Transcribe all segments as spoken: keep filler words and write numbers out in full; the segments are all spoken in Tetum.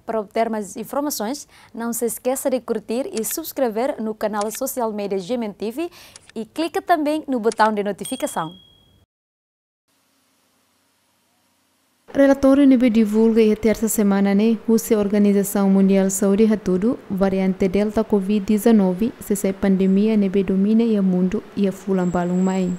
Para obter mais informações, não se esqueça de curtir e subscrever no canal social media G M N T V e clica também no botão de notificação. Relatóriu ne'ebé divulga iha tersa semana ne'e husi Organizasaun Mundiál Saúde hatudu, variante Delta covid dezanove sei sai pandemia ne'ebé domina iha mundu iha fulan balun mai.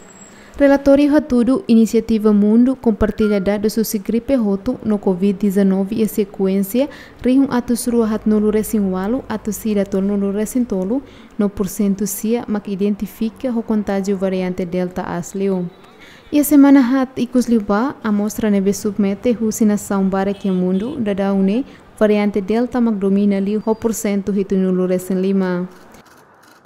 Relatóriu hatudu inisiativa mundu kompartilla dadus husi gripe hotu no covid dezanove iha sekuénsia rihun atus rua haatnulu resin ualu atus ida tolunulu resin tolu, no pursentu sia mak identifika ho kontájiu variante Delta aas liu. Iha semana haat ikus liubá, amostra ne'ebé submete husi nasaun barak iha mundu, daudaun ne'e variante Delta mak domina liu ho pursentu hitunulu resin lima.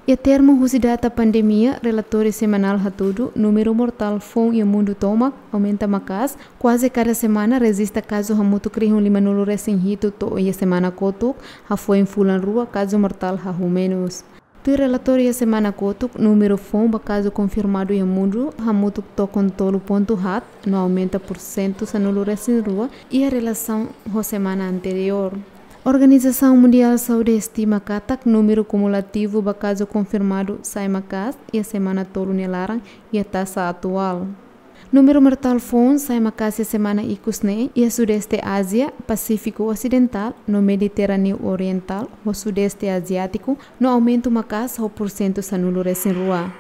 Iha termu husi data pandemia, relatóriu semanál hatudu, númeru mortál foun iha mundu tomak aumenta maka'as, kuaze kada semana rejista kazu hamutuk rihun limanulu resin hitu to'o iha semana kotuk, hafoin fulan rua kazu mortál hahú menus. Tuir relatóriu iha semana kotuk, númeru foun ba kazu konfirmadu iha mundu hamutuk tokon tolu pontu haat, no aumenta pursentu sanulu resin rua iha relasaun ho semana anteriór. Organizasaun Mundiál Saúde estima katak númeru kumulativu ba kazu konfirmadu sai maka'as iha semana tolu nia laran iha taxa atuál. Númeru mortál foun sai maka'as iha semana ikus ne'e iha Sudeste Ázia, Pasífiku Osidentál, no Mediterráneu Orientál, ho Sudeste Aziátiku, no aumentu maka'as ho pursentu sanulu resin rua.